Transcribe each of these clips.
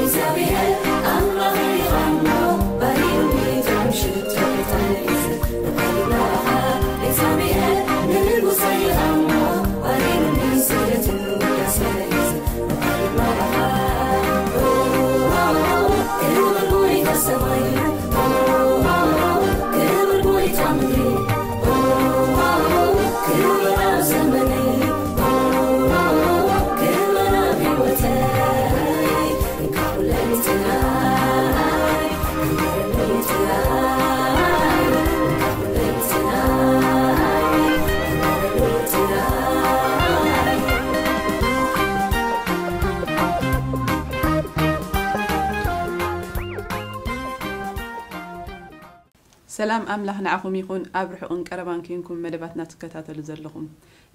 እግዚኣብሔር ኣምላኽ ይሃሞ ባሪሩ ሚእቶም ሽቶ ይጠንስ። ንባሪና ኤልሳቤጥ ንንጉሰ ይሃሞ ባሪሩ ሚስደትን ውዳሴ ይዝ። ንባሪና ክብር ጎይታ ሰማይ ክብር ጎይታ ምድሪ ክብር ኣብ ዘመነይ ክብር ኣብ ህይወተይ ሰላም ኣምላኽ ንዓኹም ይኹን፣ ኣብ ርሑቕን ቀረባን ኬንኩም መደባትና ትከታተሉ ዘለኹም።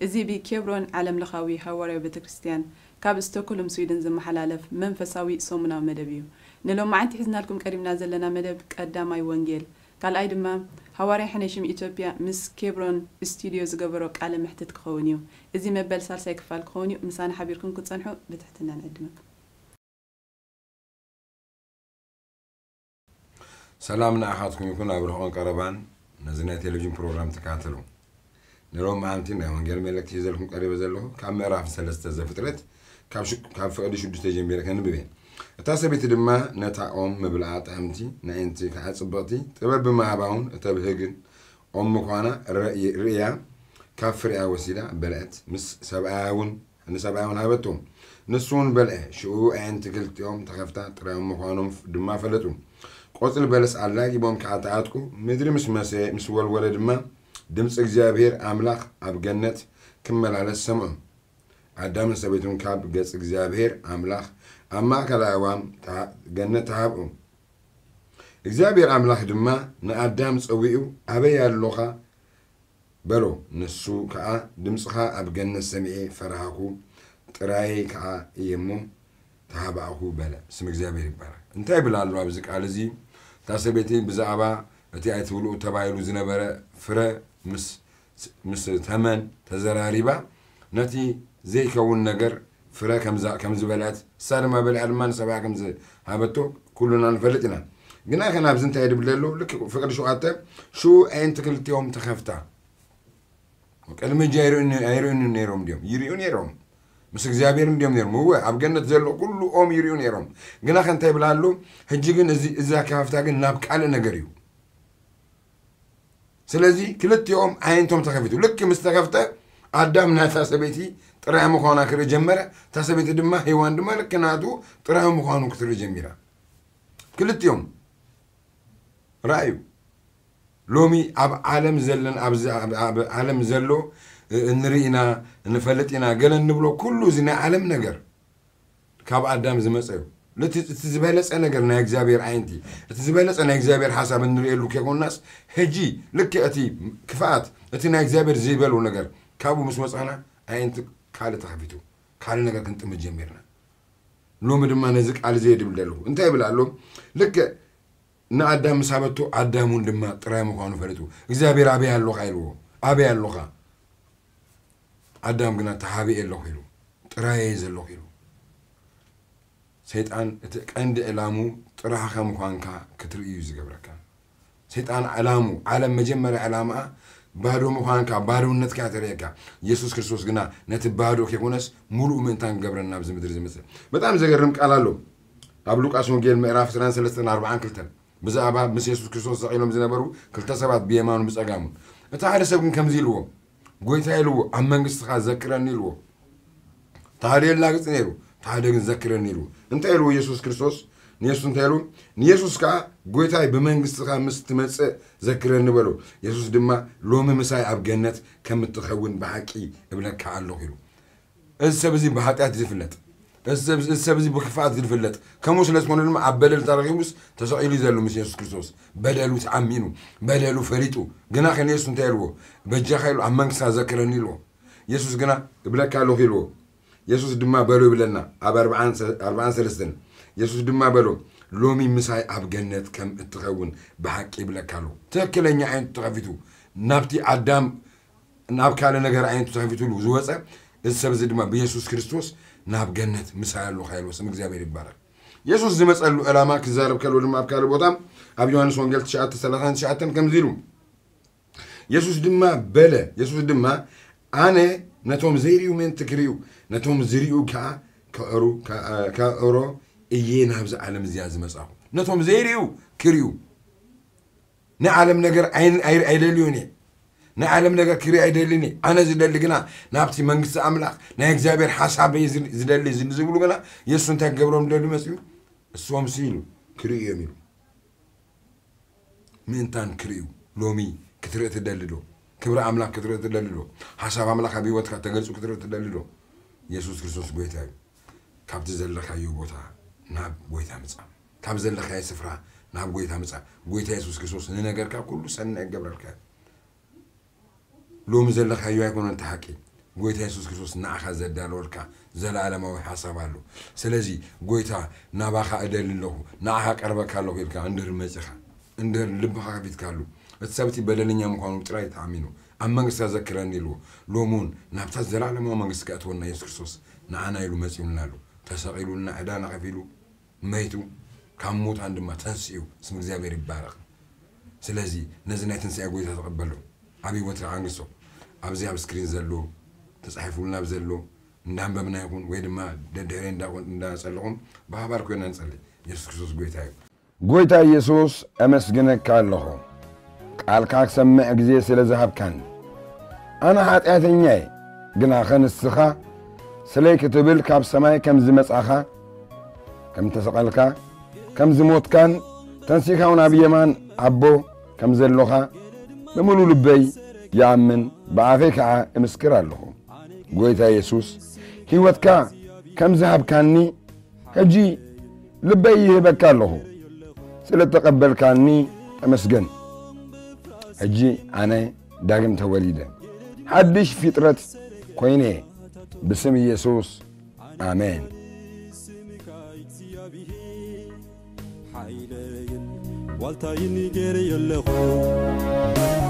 እዚ ብኬብሮን ዓለም ለኻዊ ሃዋርያዊ ቤተ ክርስቲያን ካብ ስቶክሆልም ስዊድን ዝመሓላለፍ መንፈሳዊ ሰሙናዊ መደብ እዩ። ንሎማዓንቲ ሒዝናልኩም ቀሪብና ዘለና መደብ ቀዳማይ ወንጌል፣ ካልኣይ ድማ ሃዋርያ ሕነሽም ኢትዮጵያ ምስ ኬብሮን ስቱድዮ ዝገበሮ ቃለ መሕትት ክኸውን እዩ። እዚ መበል ሳልሳይ ክፋል ክኸውን እዩ። ምሳና ሓቢርኩም ክትጸንሑ ብትሕትና ንዕድመኩም። ሰላም ንኣኻትኩም ይኹን ኣብ ርሑቕን ቀረባን ነዚ ናይ ቴሌቪዥን ፕሮግራም ትከታተሉ። ንሎሚ መዓልቲ ናይ ወንጌል መልእክቲ ሒዘልኩም ቀሪበ ዘለኹ ካብ ምዕራፍ ሰለስተ ዘፍጥረት ካብ ፍቕዲ ሽዱሽተ ጀሚረ ከንብብ እየ። እታ ሰበይቲ ድማ ነታ ኦም ምብልዓ ጥዕምቲ ንኣዒንቲ ከዓ ጽብቕቲ ጥበብ ብምሃባ እውን እተብህግን ኦም ምዃና ርእያ ካብ ፍሬኣ ወሲዳ በልዐት። ምስ ሰብኣያ እውን ንሰብኣያ እውን ሃበቶ። ንሱ እውን በልዐ። ሽኡ ኣዒንቲ ክልቲኦም ተኸፍታ፣ ጥራዮም ምዃኖም ድማ ፈለጡ። ቆጽሊ በለስ ኣላጊቦም ከኣ ተዓጥቁ። ምድሪ ምስ መሰየ ምስ ወልወለ ድማ ድምጺ እግዚኣብሔር ኣምላኽ ኣብ ገነት ክመላለስ ሰምዑ። ኣዳምን ሰበይቱን ካብ ገጽ እግዚኣብሔር ኣምላኽ ኣብ ማእከላይ ኣእዋም ገነት ተሃብኡ። እግዚኣብሔር ኣምላኽ ድማ ንኣዳም ጸዊዑ ኣበይ ኣሎኻ በሎ። ንሱ ከኣ ድምጽኻ ኣብ ገነት ሰሚዐ ፈራህኩ፣ ጥራየይ ከኣ እየ እሞ ተሃባእኹ በለ። ስም እግዚኣብሔር ይባረክ። እንታይ ይብል ኣሎ ኣብዚ ቃል እዚ? እታ ሰበይቲ ብዛዕባ እቲ ኣይትብልኡ ተባሂሉ ዝነበረ ፍረ ምስ ምስ ተመን ተዘራሪባ ነቲ ዘይከውን ነገር ፍረ ከም ዝበልዐት እሳ ድማ በሊዓ ድማ ንሰብኣ ከም ዝሃበቶ ኩሉና ንፈልጥ ኢና። ግና ከ ናብዚ እንታይ ድብል ኣሎ? ልክ ፍቅዲ ሸውዓተ ሽኡ ኣዒንቲ ክልቲኦም ተኸፍታ። ቅድሚ ሕጂ ኣይርእዩን ነይሮም ድዮም? ይርእዩ ነይሮም። ምስ እግዚኣብሔር እንድዮም ነይሮም። እወ ኣብ ገነት ዘሎ ኩሉ ኦም ይርእዩ ነይሮም። ግና ከ እንታይ ይብል ኣሎ? ሕጂ ግን እዚ ኣከፋፍታ ግን ናብ ካልእ ነገር እዩ። ስለዚ ክልቲኦም ኣዒንቶም ተኸፊቱ። ልክ ምስ ተኸፍተ ኣዳም ናታ ሰበይቲ ጥራይ ምዃና ክርኢ ጀመረ። እታ ሰበይቲ ድማ ሄዋን ድማ ልክ ናቱ ጥራይ ምዃኑ ክትርኢ ጀሚራ። ክልቲኦም ረኣዩ። ሎሚ ኣብ ዓለም ዘለን ኣብዚ ኣብ ዓለም ዘሎ እንርኢ ኢና ንፈልጥ ኢና ገለ እንብሎ ኩሉ እዚ ናይ ዓለም ነገር ካብ ኣዳም ዝመፀ እዩ። እቲ ዝበለፀ ነገር ናይ እግዚኣብሔር ዓይንቲ እቲ ዝበለፀ ናይ እግዚኣብሔር ሓሳብ እንርእየሉ ከይኮንናስ ሕጂ ልክ እቲ ክፍኣት እቲ ናይ እግዚኣብሔር ዘይበሎ ነገር ካብኡ ምስ ወፃና ኣዒንቲ ካልእ ተኸፊቱ ካልእ ነገር ክንጥምት ጀሚርና። ሎሚ ድማ ነዚ ቃል እዚ የድብል ዘለኹ እንታይ ይብል ኣሎ? ልክ ንኣዳም ምስ ሃበቶ ኣዳም እውን ድማ ጥራይ ምዃኑ ፈሊጡ እግዚኣብሔር ኣበይ ኣሎኻ ኢልዎ። ኣበይ ኣሎኻ? ኣዳም ግና ተሃቢኤ ኣለኹ ኢሉ። ጥራይ እየ ዘለኹ ኢሉ። ሰይጣን እቲ ቀንዲ ዕላሙ ጥራሕኻ ምዃንካ ክትርኢ እዩ ዝገብረካ። ሰይጣን ዕላሙ ዓለም መጀመርያ ዕላምኣ ባዶ ምዃንካ ባዶነትካ ተርእየካ። ኢየሱስ ክርስቶስ ግና ነቲ ባዶ ከይኮነስ ሙሉእ ምእንታን ክገብረና ኣብዚ ምድሪ ዝመፅእ። በጣም ዘገርም ቃል ኣሎ። ኣብ ሉቃስ ወንጌል ምዕራፍ ዕስራን ሰለስተን ኣርባዓን ክልተን ብዛዕባ ምስ የሱስ ክርስቶስ ዘቒሎም ዝነበሩ ክልተ ሰባት ብየማኑ ብጸጋሙ። እቲ ሓደ ሰብ ግን ከምዚ ኢልዎ፣ ጎይታ ኢልዎ፣ ኣብ መንግስትኻ ዘክረኒ ኢልዎ። እቲ ሓደ የላግጽ ነይሩ፣ እቲ ሓደ ግን ዘክረኒ ኢልዎ። እንታይ ኢልዎ የሱስ ክርስቶስ? ንየሱስ እንታይ ኢሉ? ንየሱስ ከኣ ጎይታይ ብመንግስትኻ ምስ ትመጽእ ዘክረኒ በሎ። የሱስ ድማ ሎሚ ምሳይ ኣብ ገነት ከም እትኸውን ብሓቂ እብለካ ኣለኹ ኢሉ። እዚ ሰብ እዚ ብሓጢኣት ዝፍለጥ፣ እዚ ሰብ እዚ ብክፍኣት ዝፍለጥ፣ ከምኡ ስለ ዝኾነ ድማ ኣብ በደል ተረኺቡስ ተሰቒሉ እዩ ዘሎ ምስ የሱስ ክርስቶስ። በደሉ ተኣሚኑ፣ በደሉ ፈሊጡ። ግና ከ ንየሱስ እንታይ ኢልዎ? በጃኻ ኢሉ ኣብ መንግስታ ዘክረኒ ኢልዎ። የሱስ ግና እብለካ ኣለኹ ኢልዎ። የሱስ ድማ በሎ ይብለና ኣብ ኣርብዓን ሰለስተን። የሱስ ድማ በሎ ሎሚ ምሳይ ኣብ ገነት ከም እትኸውን ብሓቂ ይብለካ ኣለኹ። ትክክለኛ ዓይነቱ ተኸፊቱ ናብቲ ኣዳም ናብ ካልእ ነገር ዓይነቱ ተኸፊትሉ ዝወፀ እዚ ሰብ እዚ ድማ ብየሱስ ክርስቶስ ናብ ገነት ምሳይ ኣለኻ ኢልዎ። ስም እግዚኣብሔር ይባረክ። የሱስ ዝመጸሉ ዕላማ ክዛረብ ከሎ ድማ ኣብ ካልእ ቦታ ኣብ ዮሃንስ ወንጌል ትሽዓተ ሰላሳን ትሽዓተን ከምዚ ኢሉ፣ የሱስ ድማ በለ፣ የሱስ ድማ ኣነ ነቶም ዘይርእዩ ምእንቲ ክርእዩ፣ ነቶም ዝርእዩ ከኣ ከዕሩ ከዕሮ እየ ናብዚ ዓለም እዚኣ ዝመጻኹ። ነቶም ዘይርእዩ ክርእዩ። ናይ ዓለም ነገር ኣይ- ኣይ- ኣይደልዩን እየ። ናይ ዓለም ነገር ክርኢ ኣይደልን እየ። ኣነ ዝደሊ ግና ናብቲ መንግስቲ ኣምላኽ ናይ እግዚኣብሔር ሓሳብ እየ ዝል- ዝደሊ ዝል- ዝብሉ ግና የሱስ እንታይ ክገብሮም ደልዩ መጽኡ? እሶም ሲ ኢሉ ክርእዩ እዮም ኢሉ። ምእንታን ክርእዩ ሎሚ ክትርኢ ትደሊ ዶ? ክብሪ ኣምላኽ ክትርኢ ትደሊ ዶ? ሓሳብ ኣምላኽ ኣብ ህይወትካ ተገልጹ ክትርኢ ትደሊ ዶ? የሱስ ክርስቶስ ጎይታ እዩ። ካብቲ ዘለኻዮ ቦታ ናብ ጎይታ ምጻእ። ካብ ዘለኻዮ ስፍራ ናብ ጎይታ ምጻእ። ጎይታ የሱስ ክርስቶስ ንነገርካ ኩሉ ሰናይ ይገብረልካ እዩ። ሎሚ ዘለኻዮ ኣይኮነን እቲ ሓቂ። ጎይታ የሱስ ክርስቶስ ንዓኻ ዘዳለወልካ ዘለኣለማዊ ሓሳብ ኣሎ። ስለዚ ጎይታ ናባኻ እደሊ ኣለኹ፣ ንዓኻ ቀርበካ ኣለኹ ኢልካ እንድር መጺኻ፣ እንድር ልብኻ ከፊትካሉ፣ እቲ ሰብ እቲ በደለኛ ምዃኑ ጥራይ ተኣሚኑ ኣብ መንግስታ ዘክረኒ ኢልዎ፣ ሎሚ እውን ናብታ ዘለኣለማዊ መንግስቲ ከእትወና የሱስ ክርስቶስ ንዓና ኢሉ መጺኡልና ኣሎ። ተሰቒሉልና ዕዳና ከፊሉ መይቱ ካብ ሙታን ድማ ተንሲኡ ስም እግዚኣብሔር ይባረኽ። ስለዚ ነዚ ናይ ትንሳኤ ጎይታ ተቐበሎ፣ ኣብ ህይወትካ ኣንግሶ። ኣብዚ ኣብ ስክሪን ዘሎ ተጻሒፉልና ኣብ ዘሎ እንዳንበብና ይኹን ወይ ድማ ደድሕሪ እንዳጸለኹም ብሓባር ኮይና ንጸሊ። የሱስ ክርስቶስ ጎይታ እዩ። ጎይታ ኢየሱስ፣ ኣመስግነካ ኣለኹ፣ ቃልካ ክሰምዕ ግዜ ስለ ዝሃብካኒ። ኣነ ሓጢኣተኛ እየ፣ ግናኸ ንስኻ ስለይ ክትብል ካብ ሰማይ ከም ዝመጻኻ፣ ከም ተሰቐልካ፣ ከም ዝሞትካን ተንሲእካ እውን ኣብ የማን ኣቦ ከም ዘሎኻ ብምሉእ ልበይ ይኣምን፣ ብኣፈይ ከኣ እምስክር ኣለኹ። ጎይታ የሱስ፣ ህይወትካ ከም ዝሃብካኒ ሕጂ ልበይ ይህበካ ኣለኹ። ስለ እተቐበልካኒ ተመስገን። ሕጂ ኣነ ዳግም ተወሊደ፣ ሓድሽ ፍጥረት ኮይነ፣ ብስም ኢየሱስ፣ ኣሜን። ሓይለይን ዋልታይን ገይረዮ ኣለኹ፣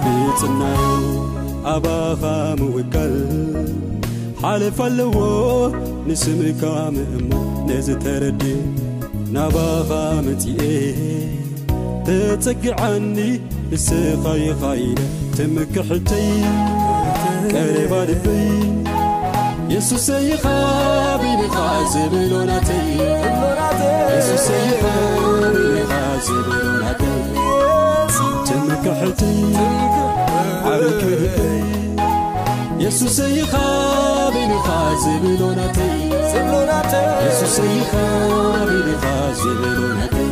ብጽናዩ ኣባኻ ምውካል ሓለፍ ኣለዎ፣ ንስምካ ምእማን ነዚ ተረድእ። ናባኻ መጺኤ ተጸግዓኒ፣ ንስኻ ኢኻ ኢለ ትምክሕተይ፣ ቀረባ ልበይ። የሱሰይ ኢኻ ብልኻ ዝብሎ ናተይ፣ የሱሰይ ኢኻ ብልኻ ዝብሎ ናተይ፣ ትምክሕተይ፣ ዓርኪ ልበይ። የሱሰይ ኢኻ ብልኻ ዝብሎ ናተይ፣ የሱሰይ ኢኻ ብልኻ ዝብሎ ናተይ።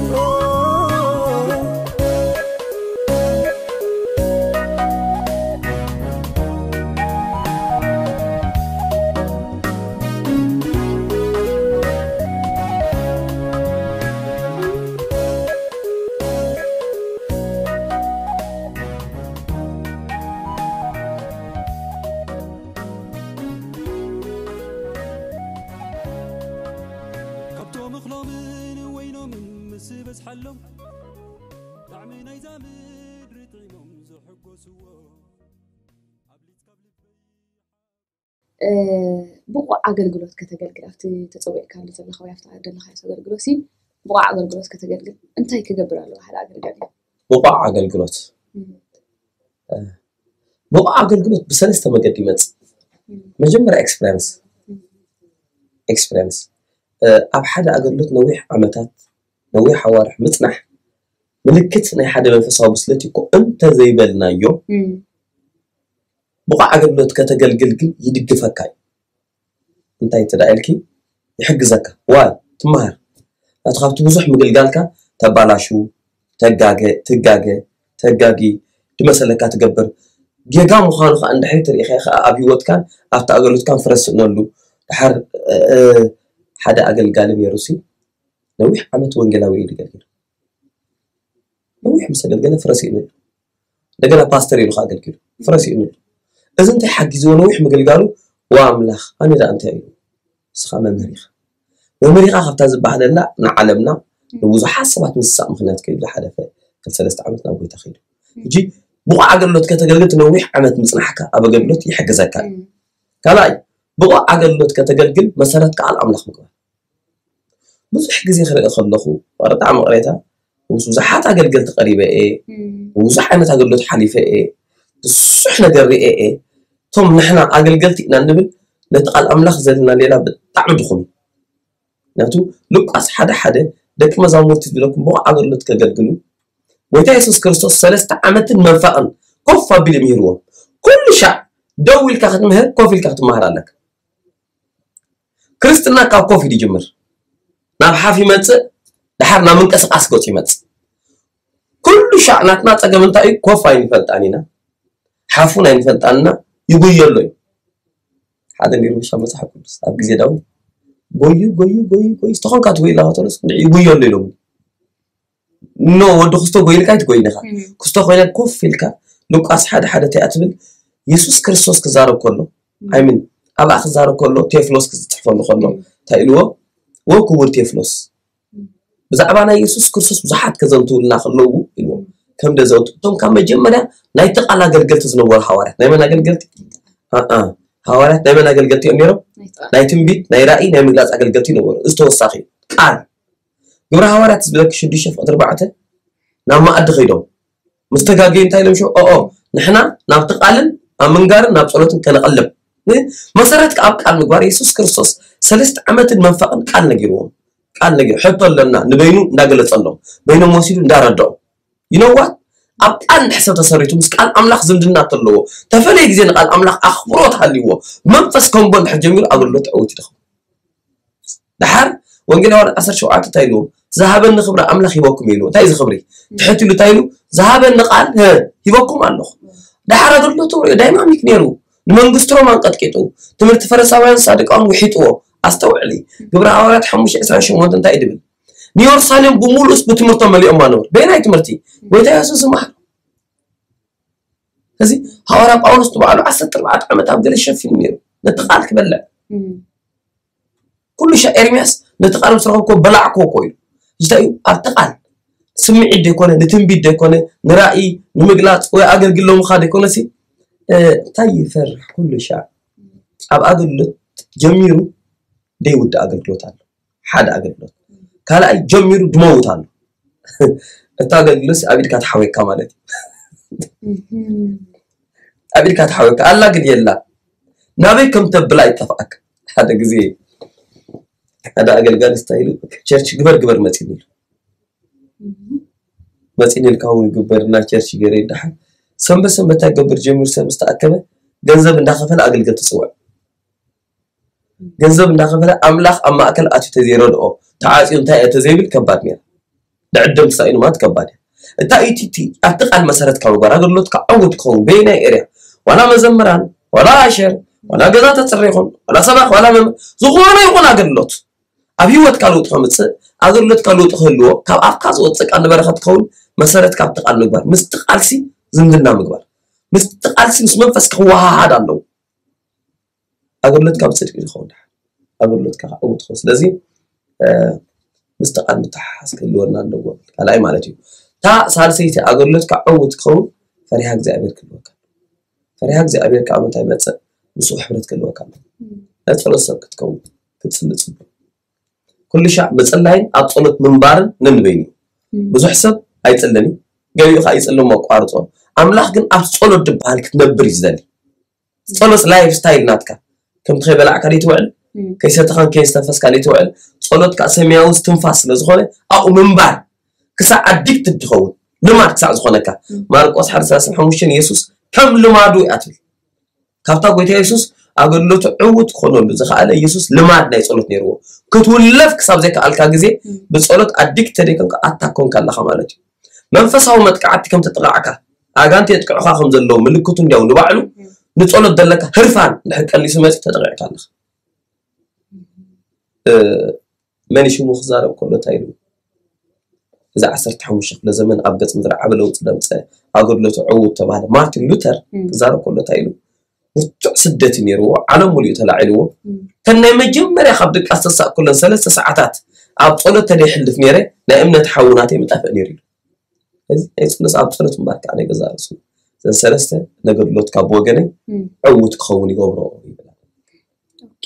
ካብቶም እኽሎምን ወይኖምን ምስ በዝሓሎም፣ ጣዕሚ ናይዛ ምድሪ ጥዒሞም ዝሕጎስዎ። እ፣ ብቑዕ ኣገልግሎት ከተገልግል፣ ኣብቲ ተጸዊዕካሉ ዘለኻ ወይ ኣብቲ ደለኻዮ ኣገልግሎት ሲ ብቑዕ ኣገልግሎት ከተገልግል እንታይ ክገብር ኣለዎ ሓደ ኣገልጋሊ? ብቑዕ ኣገልግሎት፣ እም። እ፣ ብቑዕ ኣገልግሎት ብሰለስተ መገዲ ይመጽእ። እም። መጀመርያ ኤክስፐሪንስ። እም። ኤክስፐሪንስ፣ እ፣ ኣብ ሓደ ኣገልግሎት ነዊሕ ዓመታት፣ ነዊሕ ኣዋርሕ ምጽናሕ ምልክት ናይ ሓደ መንፈሳዊ ብስለት እዩ እኮ እንተ ዘይበልናዮ፣ እም። ብቑዕ ኣገልግሎት ከተገልግል ግን ይድግፈካ እዩ። እንታይ እንተ ደኣ ኢልኪ፣ ይሕግዘካ። ዋይ፣ ትመሃር። ናቱ ካብቲ ብዙሕ ምግልጋልካ ተባላሹ፣ ተጋገ፣ ትጋገ፣ ተጋጊ፣ ድመሰለካ ትገብር። ጌጋ ምዃኑ ከኣ እንድሕሪ ትርኢ ከኣ ኣብ ህይወትካን ኣብቲ ኣገልግሎትካን ፍረ ስእነሉ። ድሓር፣ እ፣ እ፣ ሓደ ኣገልጋሊ ነይሩ ሲ፣ ነዊሕ ዓመት ወንጌላዊ እዩ ዘገልግል። ነዊሕ ምስ ኣገልገለ ፍረ ስኢኑ። እንደገና ፓስተር ኢሉ ከኣ ኣገልጊሉ። ፍረ ስኢኑ። እዚ እንታይ ሓጊዝዎ ነዊሕ ምግልጋሉ? "ዋ ኣምላኽ፣ ኣነ ደኣ እንታይ ኢሉ?" ንስኻ መምህር ኢኻ። መምህር ኢኻ ካብታ ዝበሃለላ ንዓለምና ንብዙሓት ሰባት ምስሳእ ምኽንያት ከይዱ ዝሓለፈ ክልተ ሰለስተ ዓመት ናብ ጎይታ ከይዱ። ሕጂ ብቑዕ ኣገልግሎት ከተገልግል እቲ ነዊሕ ዓመት ምጽናሕካ ኣብ ኣገልግሎት ይሕግዘካ እዩ። እም። ካልኣይ፣ ብቑዕ ኣገልግሎት ከተገልግል መሰረትካ ቃል ኣምላኽ ምግባር። ብዙሕ ግዜ ክርኢ ከለኹ፣ ብጣዕሚ ቅሬታ፣ ምስ ብዙሓት ኣገልገልቲ ቀሪበ እየ፣ ብዙሕ ዓይነት ኣገልግሎት ሓሊፈ እየ፣ ብዙሕ ነገር ርኤ እየ። እቶም ንሕና ኣገልገልቲ ኢና እንብል፣ ነቲ ቃል ኣምላኽ ዘለና ሌላ ብጣዕሚ ድኹም እዩ። ምክንያቱ ሉቃስ ሓደ ሓደ፣ ደቂ መዛሙርቲ ዝብለኩም ብቑዕ ኣገልግሎት ከገልግሉ፣ ጎይታ የሱስ ክርስቶስ ሰለስተ ዓመትን መንፈቕን ኮፍ ኣቢሉ ምሂርዎም። ኩሉ ሻዕ ደው ኢልካ ክትምህር፣ ኮፍ ኢልካ ክትመሃር ኣለካ። ክርስትና ካብ ኮፍ ኢሉ ይጅምር። ናብ ሓፍ ይመጽእ፣ ድሓር ናብ ምንቅስቃስ ገጹ ይመጽእ። ኩሉ ሻዕ ናትና ጸገም እንታይ እዩ? ኮፍ ኣይንፈልጣን ኢና። ሓፉን ኣይንፈልጣን ኢና። ይጉየሎ እዩ። ሓደ ነይሩ ብሻ መጽሓፍ ቅዱስ ኣብ ግዜ ዳዊት፣ "ጎዩ፣ ጎዩ፣ ጎዩ፣ ጎዩ፣ ዝተኾንካ ትጎይላ ከተሎስ እንድዒ ይጉየሎ" ኢሎም። ኖ፣ ወዲ ክስቶ ጎይልካ ኣይትጎይን ኢኻ። ክስቶ ኮይነ ኮፍ ኢልካ ሉቃስ ሓደ ሓደ እንታይ እያ ትብል? የሱስ ክርስቶስ ክዛረብ ከሎ፣ ኣይምን ኣብኣ ክዛረብ ከሎ፣ ቴፍሎስ ክዝጽሕፈሉ ከሎ፣ እንታይ ኢልዎ? "ወ ክቡር ቴፍሎስ፣ ብዛዕባ ናይ የሱስ ክርስቶስ ብዙሓት ከዘንትውልና ከለዉ" ኢልዎ። ከም ደዘውቱ እቶም ካብ መጀመርያ ናይቲ ቃል ኣገልገልቲ ዝነበሩ ሃዋርያት፣ ናይ መን ኣገልገልቲ? ኣኣ፣ ሃዋርያት ናይ መን ኣገልገልቲ እዮም ነይሮም? ናይ ትንቢት፣ ናይ ራእይ፣ ናይ ምግላጽ ኣገልገልቲ ነበሩ። እዚ ተወሳኺ እዩ። ቃል ግብረ ሃዋርያት ዝብለኪ ሽዱሽተ ፍቕዲ ኣርባዕተ ናብ መኣዲ ከይዶም ምስ ተጋገዩ እንታይ ኢሎም ሽዑ? ኦኦ፣ ንሕና ናብቲ ቃልን ኣብ ምንጋርን ናብ ጸሎትን ከነቐልብ። ን-፣ መሰረት ከኣ ኣብ ቃል ምግባር የሱስ ክርስቶስ ሰለስተ ዓመትን መንፈቕን ቃል ነጊርዎም። ቃል ነጊሩ፣ ሕቶ ኣለና ንበይኑ እንዳገለጸሎም፣ በይኖም ወሲዱ እንዳረድኦም። You know what? ኣብ ቃል እንድሕር ሰብ ተሰሪቱ ምስ ቃል ኣምላኽ ዝምድና ተለዎ፣ ተፈለየ ግዜ ንቃል ኣምላኽ ኣኽብሮት ሃልይዎ፣ መንፈስ ከንቦ እንድሕር ጀሚሩ ኣገልግሎት ዕውት ይደኽም። ድሓር ወንጌል ዮሃንስ ዓሰርተ ሸውዓተ እንታይ ኢልዎም? "ዝሃበኒ ክብሪ ኣምላኽ ሂበኩም" ኢልዎ። እንታይ እዚ ክብሪ? ትሕት ኢሉ እንታይ ኢሉ? "ዝሃበኒ ቃል፣ ህ፣ ሂበኩም ኣለኹ።" ድሓር ኣገልግሎቱ ሪኦ ዳይናሚክ ነይሩ። ንመንግስቲ ሮማ ኣንቀጥቂጡ፣ ትምህርቲ ፈሪሳውያን ሳዱቃውያን ውሒጥዎ። ኣስተውዕሊ፣ ግብረ ሃዋርያት ሓሙሽተ ዕስራን ሸሞንተን እንታይ እዩ ድብል? "ንየሩሳሌም ብምሉእስ ብትምህርቶም መሊኦማ ነበሩ።" በየናይ ትምህርቲ? ጎይታ የሱስ ዝመሃር። እዚ ሃዋርያ ጳውሎስ ንባዕሉ ዓሰርተ ኣርባዕተ ዓመት ኣብ ገለ ሸፊኑ ነይሩ። ነቲ ቃል ክበልዕ። እም። ኩሉ ሻዕ ኤርምያስ ነቲ ቃል ምስ ረኸብኩዎ በላዕኩዎ እኮ ኢሉ። እንታይ እዩ? ኣብቲ ቃል ስምዒት ደይኮነ፣ ንትንቢት ደይኮነ፣ ንራእይ ንምግላጽ ወይ ኣገልግል ሎምኻ ደይኮነ ሲ፣ እ፣ እንታይ ይፈርሕ ኩሉ ሻዕ? ኣብ ኣገልግሎት ጀሚሩ ደይውዳእ ኣገልግሎት ኣሎ። ሓደ ኣገልግሎት። ካልኣይ ጀሚሩ ድመውት ኣሎ። እታ ኣገልግሎት ኣብ ኢድካ ትሓወካ ማለት እዩ። እህም። ኣብ ኢድካ ትሓወካ ኣላ ግን የላ። ናበይ ከም ተብላ ይጠፍኣካ። ሓደ ግዜ ሓደ ኣገልጋሊ ስታይሉ ቸርች ግበር ግበር መጺኒ ኢሉ። እህም። መጺኒ ኢልካ እውን ግበር እና ቸርች ገይረ ይደሓን። ሰንበት ሰንበት እንታይ ገብር ጀሚሩ ሰብ ምስ ተኣከበ ገንዘብ እንዳኸፈለ ኣገልገልቲ ጽውዕ። ገንዘብ እንዳኸፈለ ኣምላኽ ኣብ ማእከል ኣትዩ ተዘይረድኦ፣ ተዓጽዩ እንታይ እየ ተዘይብል ከባድ ነይራ። ድዕድም ተሳኢኑ ማለት ከባድ እያ። እታ ኢቲቲ ኣብቲ ቃል መሰረት ካብ ምግባር ኣገልግሎትካ ዕዉት ክኸውን በየናይ ኤርያ? ዋላ መዘምራን፣ ዋላ ኣሸር፣ ዋላ ገዛ ተጽሪ ይኹን፣ ዋላ ሰባኽ፣ ዋላ መም-፣ ዝኾነ ይኹን ኣገልግሎት ኣብ ህይወትካ ለውጢ ከምጽእ፣ ኣገልግሎትካ ለውጢ ክህልዎ፣ ካብ ኣፍካ ዝወጽእ ቃል ንበረኸት ክኸውን መሰረት ካብቲ ቃል ምግባር። ምስቲ ቃልሲ ዝምድና ምግባር። ምስቲ ቃልሲ ምስ መንፈስ ክወሃሃድ ኣለዎ። ኣገልግሎትካ ብጽድቂ ዝኸውን ድሓር ኣገልግሎትካ ክዕውት ይኸውን። ስለዚ፣ እ፣ ምስቲ ቃል ምትሓሓዝ ክህልወና ኣለዎ። ካልኣይ ማለት እዩ። እታ ሳልሰይቲ ኣገልግሎትካ ዕውት ክኸውን ፈሪሃ እግዚኣብሔር ክህልወካ። ፈሪሃ እግዚኣብሔር ካብ ምንታይ ይመጽእ? ምስኡ ሕብረት ክህልወካ ኣለዎ። እም። ናይ ጸሎት ሰብ ክትከውን፣ ክትጽሊ ጽቡቕ። ኩሉ ሻዕ ምጽላይን ኣብ ጸሎት ምንባርን ነንበይኑ እዩ። እም። ብዙሕ ሰብ ኣይጽልን እዩ። ገሊኡ ከኣ ይጽልን እሞ ኣቋርጾ። ኣምላኽ ግን ኣብ ጸሎት ድበሃል ክትነብር እዩ ዝደሊ። ጸሎት ላይፍ ስታይል ናትካ። ከምቲ ከይበላዕካ ደይትውዕል፣ እም። ከይሰተኻን ከየስተንፈስካ ደይትውዕል፣ ጸሎትካ ሰማያዊ እስትንፋስ ስለ ዝኾነ፣ ኣብኡ ምንባር ክሳዕ ኣዲክትድ ትኸውን፣ ልማድ ክሳዕ ዝኾነካ። እም። ማርቆስ ሓደ ሰላሳ ሓሙሽተ የሱስ ከም ልማዱ እያ ትብል። ካብታ ጎይታ የሱስ ኣገልግሎቱ ዕዉት ክኾነሉ ዝኸኣለ የሱስ ልማድ ናይ ጸሎት ነይርዎ። ክትውለፍ ክሳብ ዘይከኣልካ ግዜ እም። ብጸሎት ኣዲክትድ ደይኮንካ ኣታክ ኮንካ ኣለኻ ማለት እዩ። መንፈሳዊ መጥቃዕቲ ከም ተጠቃዕካ፣ ኣጋንንቲ የጥቅዑኻ ከም ዘለዉ ምልክቱ እንዲያው ንባዕሉ፣ እም። ንጸሎት ዘለካ ህርፋን እንድሕር ቀኒሱ መጺኡ ተጠቂዕካ ኣለኻ። እ፣ መን ሽሙ ክዛረብ ከሎ እንታይ ኢሉ? እዚ ዓሰርተ ሓሙሽተ ክፍለ ዘመን ኣብ ገጽ ምድሪ ዓቢ ለውጢ ዘምጸ ኣገልግሎቱ ዕዉት ተባህለ። ማርቲን ሉተር እም። ክዛረብ ከሎ እንታይ ኢሉ? ብርቱዕ ስደት እዩ ነይርዎ፣ ዓለም ሙሉእ ተላዒልዎ። እም። እተን ናይ መጀመርያ ካብ ድቃስ ተሳእ ከለን ሰለስተ ሰዓታት ኣብ ጸሎት ተደይሕልፍ ነይረ፣ ናይ እምነት ሓዊ ናተይ ምጠፍእ ነይሩ ኢሉ። እዚ ናይ ጸሎት፣ ኣብ ጸሎት ምንባር ከዓ ናይ ገዛ ርእሱ። እዘን ሰለስተ ነገድሎት ካብ ወገነይ እም። ዕዉት ክኸውን ይገብሮ ይብላ። ኦኬ።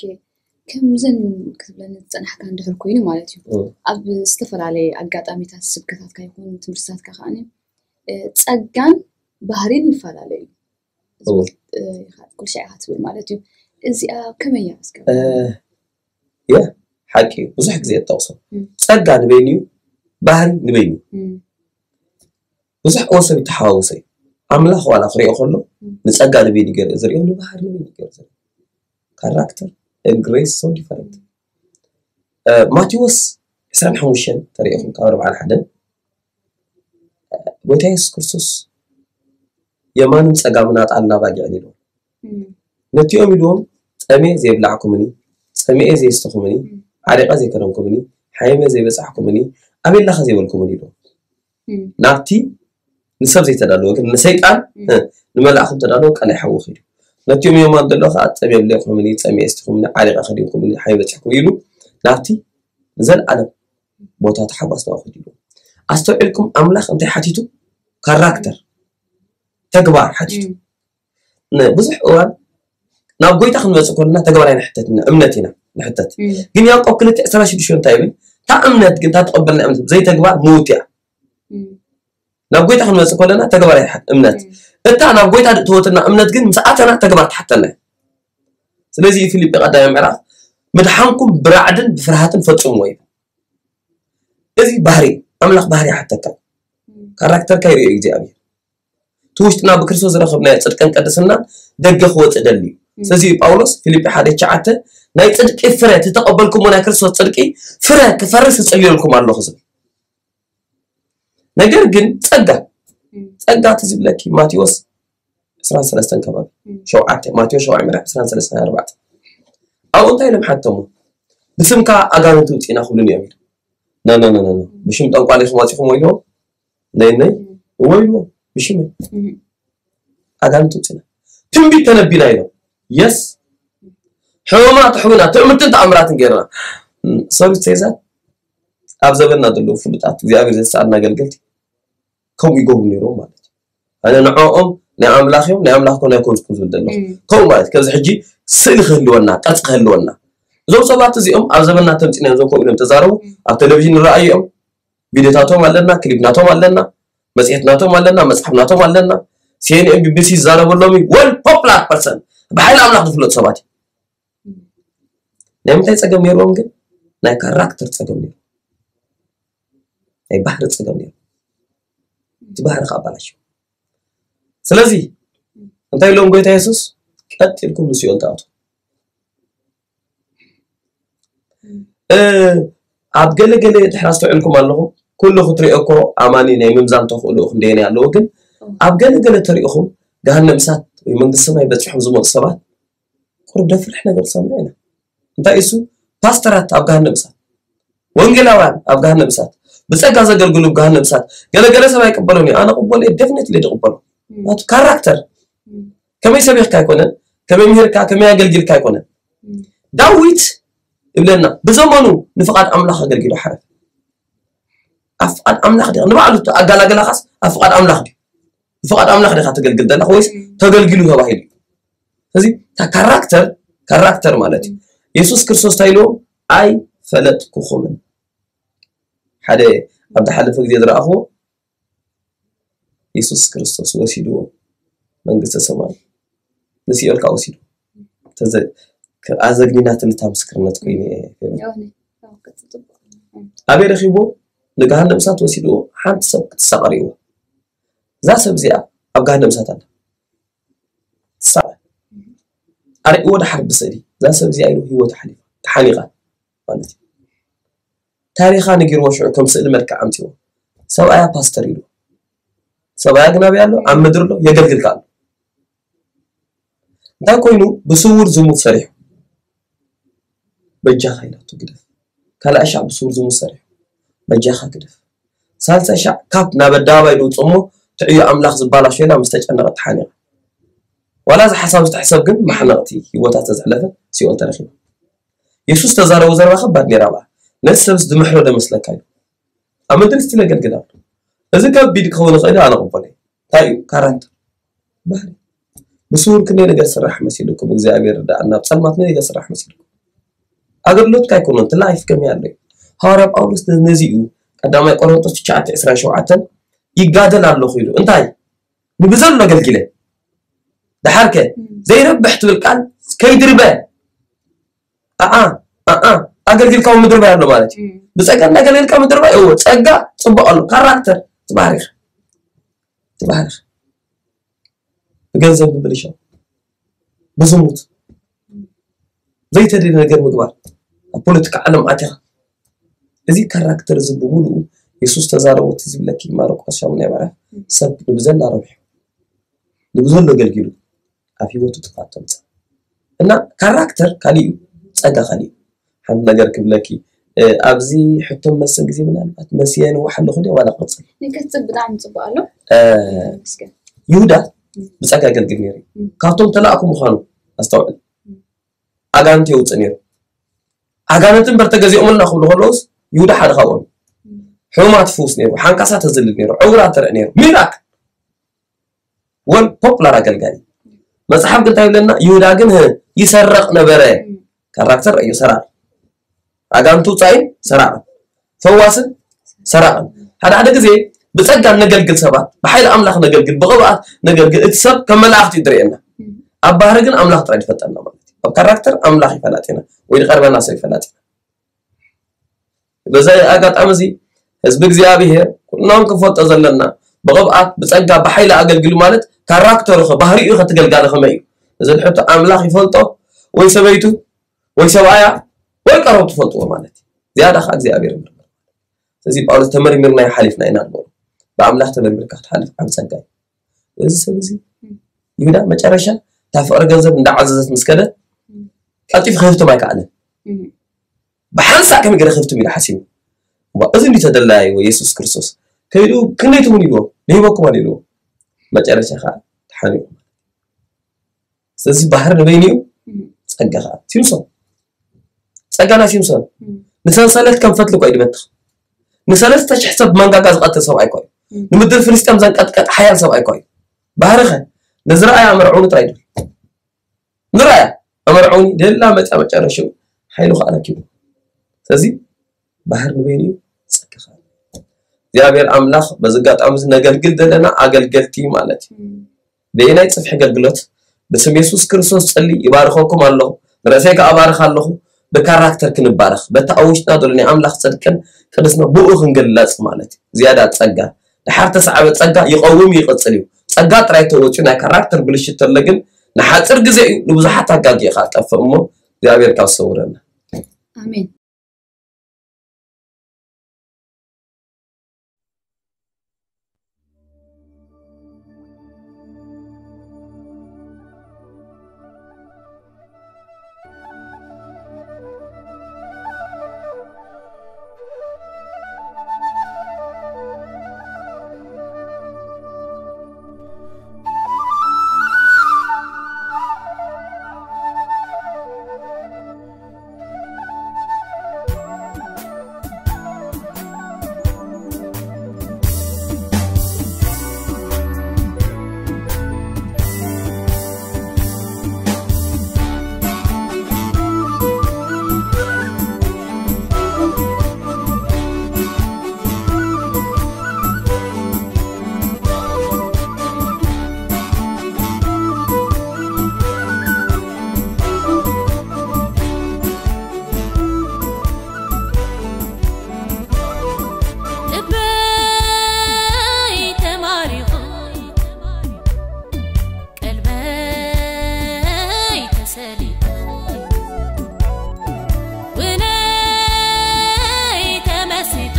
ከምዝን ክትብለኒ ዝጸናሕካ እንድሕር ኮይኑ ማለት እዩ። ኣብ ዝተፈላለየ ኣጋጣሚታት ስብከታትካ ይኹን ትምህርትታትካ ከዓኒ ጸጋን ባህሪን ይፈላለዩ እዩ። ኩልሻ ኢኻ ትብል ማለት እዩ። እዚኣ ከመይ እያ? የ ሓቂ እዩ። ብዙሕ ግዜ እጠቕሶ፣ ጸጋ ንበይኑ እዩ፣ ባህሪ ንበይኑ እዩ። ብዙሕ እወ ሰብ ይተሓዋወሰ እዩ። ኣምላኽ ዋላ ክሪኦ ከሎ ንጸጋ ንበይኑ ገይሩ ዝሪኦ፣ ንባህሪ ንበይኑ ገይሩ ዝሪኦ። ካራክተር and grace so different። ማቴዎስ ዕስራን ሓሙሽተን ተሪኢኹም ካብ ኣርባዓን ሓደን ጎይታ የሱስ ክርስቶስ የማንን ጸጋምን ኣጣልና ባጊዕን ኢልዎም። ነቲኦም ኢልዎም፣ ጸሜ ዘይብላዕኩምኒ፣ ጸሚኤ ዘየስተኹምኒ፣ ዓሪቐ ዘይከደንኩምኒ፣ ሓይመ ዘይበጻሕኩምኒ፣ ኣበላኸ ዘይበልኩምኒ ኢልዎም። ናብቲ ንሰብ ዘይተዳለወ ግን ንሰይጣን ንመላእኹም ተዳለወ ቀላይ ሓዊ ኺዱ። ነቲኦም የማን ዘሎ ከዓ ጸሜ የብለይኩምኒ፣ ጸሚኤ የስቲኹምኒ፣ ዓሪቐ ከዲንኩምኒ፣ ሓይመ በጺሕኩም ኢሉ ናብቲ ንዘለኣለም ቦታ ተሓጓስ ናብኡ ኺዱ ኢልዎም። ኣስተውዒልኩም ኣምላኽ እንታይ ሓቲቱ? ካራክተር፣ ተግባር ሓቲቱ። ብዙሕ እዋን ናብ ጎይታ ክንመፅእ ከለና ተግባር ኣይንሕተት ኢና፣ እምነት ኢና ንሕተት። ግን ያዕቆብ ክልተ ዕስራን ሽዱሽተን እንታይ ይብል? እታ እምነት ግን፣ እታ ተቐበልና እምነት ብዘይተግባር ምውት እያ። ናብ ጎይታ ክንመፅእ ከለና ተግባር ኣይሓት እምነት፣ እታ ናብ ጎይታ እትወትና እምነት ግን ምስ ኣተና ተግባር ትሓተና እያ። ስለዚ ፊልጲ ቀዳማይ ምዕራፍ፣ ምድሓንኩም ብራዕድን ብፍርሃትን ፈፅምዎ ይብል። እዚ ባህሪ ኣምላኽ ባህሪ ይሓተካ፣ ካራክተርካ ይርእዮ እግዚኣብሔር። እቲ ውሽጥና ብክርስቶስ ዝረኸብናዮ ጽድቅን ቅድስናን ደገ ክወጽእ ደልዩ። ስለዚ እዩ ጳውሎስ ፊልጲ ሓደ ትሽዓተ፣ ናይ ጽድቂ ፍረ፣ እቲ ተቐበልኩሞ ናይ ክርስቶስ ጽድቂ ፍረ ክፈሪ እጽልየልኩም ኣለኹ ዝብል። ነገር ግን ጸጋ፣ ጸጋ እቲ ዝብለኪ ማቴዎስ ዕስራን ሰለስተን ከባቢ፣ ሸውዓተ፣ ማቴዎስ ሸውዓተ ምዕራፍ ዕስራን ሰለስተን ኣርባዕተ። ኣብኡ እንታይ ኢሎም ሓተሙ? ብስምካ ኣጋንንቲ ውጽእና ክብሉን እዮም ኢሉ። ነ ነ ነ ነ ነ። ብሽም ጠንቋል ኢኹም ኣጺኹም ኢልዎም። ነይ ነይ እወ ኢልዎም ብሽመይ ኣጋንንቲ ውፅና ትንቢት ተነቢና ኢሎም። የስ ሕማማት ኣሕዊና ትእምርትን ተኣምራትን ገይርና። ሰሩት ሴዛት ኣብ ዘበንና ዘለዉ ፍሉጣት እግዚኣብሔር ዘሰኣልና ኣገልገልቲ ከምኡ ይገብሩ ነይሮም ማለት እዩ። ኣነ ንዕኦም ናይ ኣምላኽ እዮም ናይ ኣምላኽ ኮነ ኣይኮንኩን ዝብል ዘለኹ ከምኡ ማለት ከዚ ሕጂ ስእሊ ክህልወና ቅርፂ ክህልወና እዞም ሰባት እዚኦም ኣብ ዘበንና ተምፂና እዮም እዞም ከምኡ ኢሎም ተዛረቡ ኣብ ቴሌቪዥን ንረኣዩ እዮም ቪድዮታቶም ኣለና፣ ክሊፕ ናቶም ኣለና፣ መፅሄት ናቶም ኣለና፣ መፅሓፍ ናቶም ኣለና። ሲኤንኤን ቢቢሲ ዝዛረበሎም እዩ። ወል ፖፕላር ፐርሰን ብሓይሊ ኣምላኽ ዝፍለጡ ሰባት እዩ። ናይ ምንታይ ፀገም ነይርዎም ግን? ናይ ካራክተር ፀገም ነይሩ። ናይ ባህሪ ፀገም ነይሩ። እቲ ባህሪ ከዓ ኣባላሽ። ስለዚ እንታይ ኢሎም ጎይታ የሱስ ቀጥ ኢልኩም ንሲኦል ተኣቱ ኣብ ገለ ገለ ድሕር ኣስተውዕልኩም ኣለኹም ኩሉ ክትሪኦ እኮ ኣማኒ ናይ ምምዛን ተኽእሎ ክንደየናይ ኣለዎ ግን ኣብ ገለ ገለ ተሪእኹም ገሃነም እሳት ወይ መንግስቲ ሰማይ በፂሖም ዝመፁ ሰባት ቁሩብ ደፍርሕ ነገር ሰምዕ ኢና እንታይ እሱ ፓስተራት ኣብ ገሃነም እሳት ወንጌላውያን ኣብ ገሃነም እሳት ብፀጋ ዘገልግሉ ገሃነም እሳት ገለ ገለ ሰብ ኣይቅበሎን እዩ ኣነ ቅበሎ definitely ዝቅበሎ ናቱ ካራክተር ከመይ ሰቢኽካ ኣይኮነን ከመይ ምሂርካ ከመይ ኣገልጊልካ ኣይኮነን ዳዊት ይብለና ብዘመኑ ንፍቓድ ኣምላኽ ኣገልጊሉ ሓረፈ ኣብ ፍቓድ ኣምላኽ ዲኻ ንባዕሉ ኣጋላገላኻስ ኣብ ፍቓድ ኣምላኽ ድዩ ብፍቓድ ኣምላኽ ዲኻ ተገልግል ዘለኻ ወይስ ተገልጊሉ ተባሂሉ እዩ እዚ ካራክተር ካራክተር ማለት እዩ የሱስ ክርስቶስ እንታይ ኢልዎም ኣይፈለጥኩኹምን ሓደ ኣብ ዝሓለፈ ግዜ ዝረኣኽዎ የሱስ ክርስቶስ ወሲድዎ መንግስተ ሰማይ ንሲኦል ከዓ ወሲድዎ ኣዘግኒናትኒ እታ ምስክርነት ኮይኑ ኣበይ ረኪብዎ ንገሃነም እሳት ወሲድዎ ሓንቲ ሰብ ክትሳቐ ርእይዎ እዛ ሰብ እዚኣ ኣብ ገሃነም እሳት ኣላ ትሳቐ ኣርእይዎ ደሓር ብስእሊ እዛ ሰብ እዚኣ ኢሉ ህይወት ሓሊፋ ተሓኒቓ ማለት እዩ ታሪኻ ነጊርዎ ሽዑ ከም ስእሊ መልክዕ ኣምፅዎ ሰብኣያ ፓስተር ኢሉ ሰብኣያ ግን ኣበይ ኣሎ ኣብ ምድሪ ኣሎ የገልግልካ ኣሎ እንታይ ኮይኑ ብስውር ዝሙት ሰሪሑ በጃኻ ኢላቶ ግደፍ ካልኣይ ሻዕ ብስውር ዝሙት ሰሪሑ በጃኻ ግደፍ ሳልሳይ ሻዕ ካብ ናብ ኣደባባይ ዝውፅእ እሞ ትዕዮ ኣምላኽ ዝባላሾ ኢላ ምስ ተጨነቐት ተሓኒቓ ዋላ እዚ ሓሳብ ዝተሕሰብ ግን ማሕነቕቲ ህይወታ ዝተዘሕለፈ ሲኦል ተረኺባ የሱስ ተዛረቦ ዘረባ ከባድ ነይራ በኣ ነቲ ሰብስ ዝምሕሮ ዶ መስለካ ኢሉ ኣብ ምድሪ ስቲል የገልግል ኣሎ እዚ ከቢድ ክኸውን ይኽእል ኣነ ቅበሎ እንታይ እዩ ካራክተር ባህሪ ብስውር ክንደይ ነገር ስራሕ መሲልኩም እግዚኣብሔር ርዳእና ኣብ ፀልማት ክንደይ ነገር ስራሕ መሲልኩም ኣገልግሎትካ ኣይኮነን፣ እቲ ላይፍ ከመይ ኣሎ እዩ። ሃዋርያ ጳውሎስ ነዚኡ ቀዳማይ ቆሮንቶስ ትሽዓተ ዕስራን ሸውዓተን ይጋደል ኣለኹ ኢሉ። እንታይ? ንብዘሎ ኣገልጊለ። ደሓርከ ዘይረብሕ ትብል ቃል ከይድርበ። ኣኣ ኣኣ ኣገልግልካ እውን ምድርባይ ኣሎ ማለት እዩ። ብጸጋ እንዳገለልካ ምድርባይ፣ እዎ፣ ጸጋ ጽቡቕ ኣሎ። ካራክተር ትባህሪኻ ትባህሪኻ ብገንዘብ ምብልሻው፣ ብዝሙት፣ ዘይተደልየ ነገር ምግባር፣ ኣብ ፖለቲካ ዓለም ኣቲኻ፣ እዚ ካራክተር እዚ ብምሉኡ የሱስ ተዛረቦ። እቲ ዝብለኪ ማርቆስ ሻሙናይ ምዕራፍ፣ ሰብ ንብዘላ ረብሑ ንብዘሎ ኣገልጊሉ ኣብ ህይወቱ ጥፍኣት ተምፅእ። እና ካራክተር ካሊእ እዩ፣ ጸጋ ካሊእ እዩ። ሓንቲ ነገር ክብለኪ፣ እ፣ ኣብዚ ሕቶ መስን ግዜ ምናልባት መስየ ንዋሕ ኣለኹ ድየ ዋላ ክቕፅል? ንክትፅብ ብጣዕሚ ፅቡቅ ኣሎ። እ፣ ተመስገን። ይሁዳ ብጸጋ የገልግል ነይሩ እዩ። ካብቶም ተላእኩ ምዃኑ ኣስተውዕል። ኣጋንንት የውፅእ ነይሩ። ኣጋንንት እምበር ተገዚኦምልና ክብሉ ከለውስ ይሁዳ ሓደ ካብኦም እዩ። ሕሙማት ይፍውስ ነይሩ፣ ሓንካሳ ተዝልል ነይሩ፣ ዕውራት ተርኢ ነይሩ። ሚራክል ወል ፖፕላር ኣገልጋሊ። መጽሓፍ ግን እንታይ ይብለና? ይሁዳ ግን ህ ይሰረቕ ነበረ። ካራክተር እዩ ሰራቕ። ኣጋንንት ውጻኢን ሰራቕን፣ ፈዋስን ሰራቕን። ሓደ ሓደ ግዜ ብጸጋ ነገልግል ሰባት፣ ብሓይሊ ኣምላኽ ነገልግል፣ ብቕብኣት ነገልግል። እቲ ሰብ ከም መላእኽቲ እዩ ዝርእየና። ኣብ ባህሪ ግን ኣምላኽ ጥራይ ዝፈልጠና ማለት እዩ። ኣብ ካራክተር ኣምላኽ ይፈላጥ ኢና ወይ ዝቐርበና ሰብ ይፈላጥ ኢና። በዚ ኣጋጣሚ እዚ ህዝቢ እግዚኣብሔር ኩሎም ክንፈልጦ ዘለና ብቕብኣት ብጸጋ ብሓይሊ ኣገልግሉ ማለት ካራክተሩ ኸ ባህሪኡ ኸ ትገልጋለ ከመይ እዩ? እዚ ሕቶ ኣምላኽ ይፈልጦ ወይ ሰበይቱ ወይ ሰብኣያ ወይ ቀረቡ ትፈልጥዎ ማለት እዩ። ዝያዳ ኸዓ እግዚኣብሔር ይምርምር። ስለዚ ጳውሎስ ተመርሚርና ሓሊፍና ኢና ንበሎ። ብኣምላኽ ተመርሚርካ ክትሓልፍ ዓብ ጸጋ እዩ። እዚ ሰብ እዚ ይሁዳ መጨረሻ እታ ፍቕሪ ገንዘብ እንዳዓዘዘት ምስ ከደት ቀልጢፉ ክህፍትም ኣይከኣለን። ብሓንሳእ ከመይ ገይረ ክህፍትም ኢሉ ሓሲቡ። እሞ እዚ እንዲ ተደላይዎ የሱስ ክርስቶስ ከይዱ ክንደይ ትውን ኢልዎ ንሂበኩም ኣሉ ኢልዎ። መጨረሻ ከዓ ተሓኒቑ። ስለዚ ባህር ንበይኑ እዩ፣ ጸጋ ከዓ። ሲምሶን፣ ጸጋ ናይ ሲምሶን ንሰንሰለት ከም ፈትሊ እኮ እዩ ድበትኽ። ንሰለስተ ሽሕ ሰብ መንጋጋ ዝቐትል ሰብኣይ እኮ እዩ። ንምድሪ ፍልስጤም ዘንቀጥቀጠ ሓያል ሰብኣይ እኮ እዩ። ባህርኸ ንዝረኣያ መርዑኒ ጥራይ ድብል። ንረኣያ ኣመርዓውኒ ደላ መጻ መጨረሻ ሓይሉ ከዓ ረኪቡ። ስለዚ ባህር ንበይኑ እዩ ጸጋ ከዓ። እግዚኣብሔር ኣምላኽ በዚ ኣጋጣሚ እዚ ነገልግል ዘለና ኣገልገልቲ ማለት እዩ። በየናይ ጽፍሒ ኣገልግሎት ብስም የሱስ ክርስቶስ ጸሊ ይባርኸኩም ኣለኹ። ንርእሰይ ከዓ እባርኽ ኣለኹ። ብካራክተር ክንባረኽ በቲ ኣብ ውሽጥና ዘሎ ናይ ኣምላኽ ጽድቅን ቅድስና ብኡ ክንግለጽ ማለት እዩ። ዝያዳ ጸጋ ድሓር ተሰዓበ ጸጋ ይቐውም ይቕጽል እዩ። ጸጋ ጥራይ ተወጺኡ ናይ ካራክተር ብልሽት ተሎ ግን ንሓጺር ግዜ እዩ፣ ንብዙሓት ኣጋጊእኻ ትጠፍእ እሞ እግዚኣብሔር ካብ ዝሰውረና። ኣሜን። ልበይ ተማሪኹ ቀልበይ ተሰሊጡ ውነይ ተመሲጡ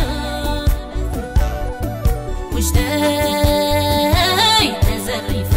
ውሽጠይ ተዘሪፉ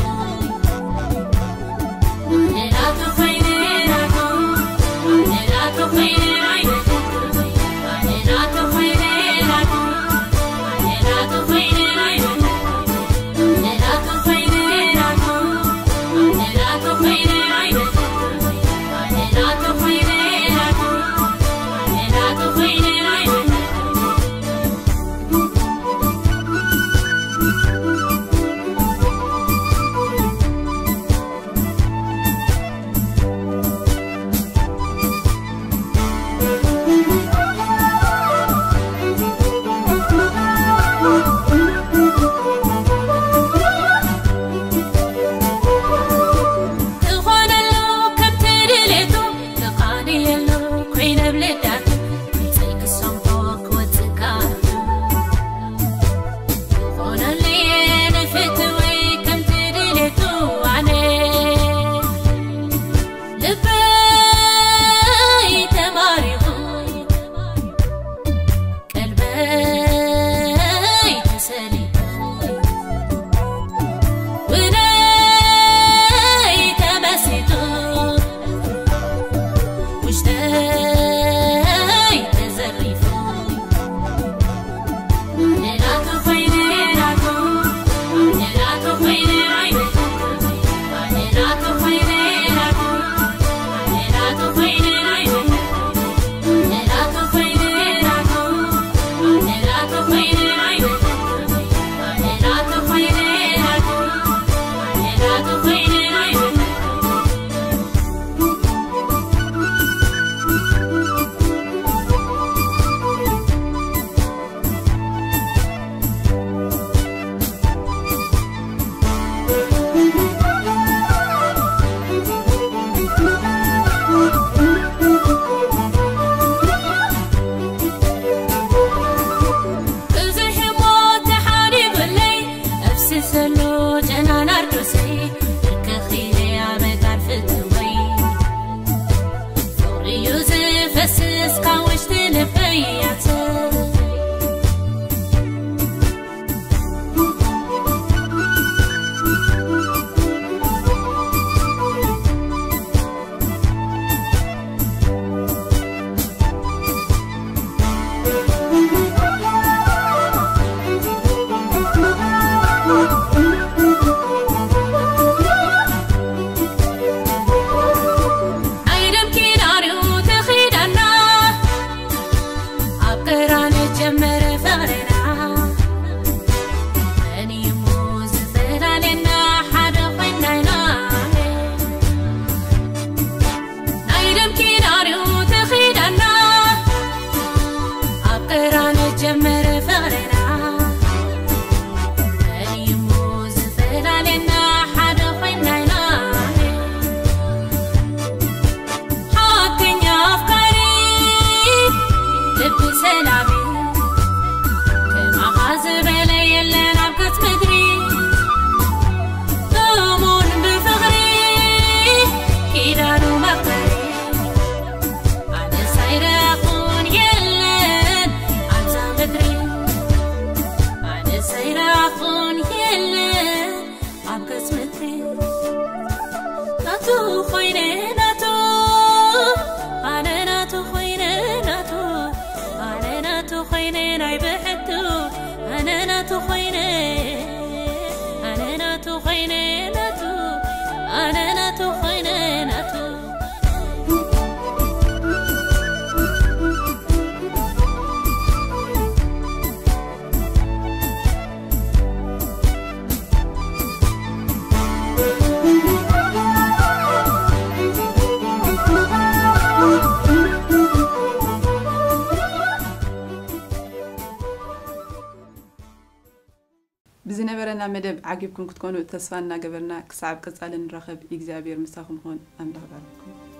ኢና። እንታይ እሞ ዝፈላለየና ሓደ ኮይንና ኢና። ሓቀኛ ኣፍቃሪ ልቢ ሰላቢ፣ ከማኻ ዝበለ የለን ኣብ ገጽ ምድሪ። እሙን ብፍቕሪ ኪዳኑ መኽበሪ፣ ኣነስ ኣይረኣኹን የለን ኣብዛ ምድሪ። ኣነስ ኣይረኣኹን የለን ኣብ ገጽ ምድሪ። ናቱ ኮይነ ናቱ፣ ኣነ ናቱ ኮይነ ናቱ፣ ኣነ ናቱ ኮይነ ናይ ብሕቱ፣ ኣነ ናቱ ኮይነ፣ ኣነ ናቱ ኮይነ ናቱ፣ ኣነ ናቱ ኮይነ ናቱ። ብዝነበረና መደብ ዓጊብኩም ክትኮኑ ተስፋ እናገበርና፣ ክሳብ ቀጻሊ ንራኸብ፣ እግዚኣብሔር ምሳኹም ይኹን። ኣምላኽ ባርኩም።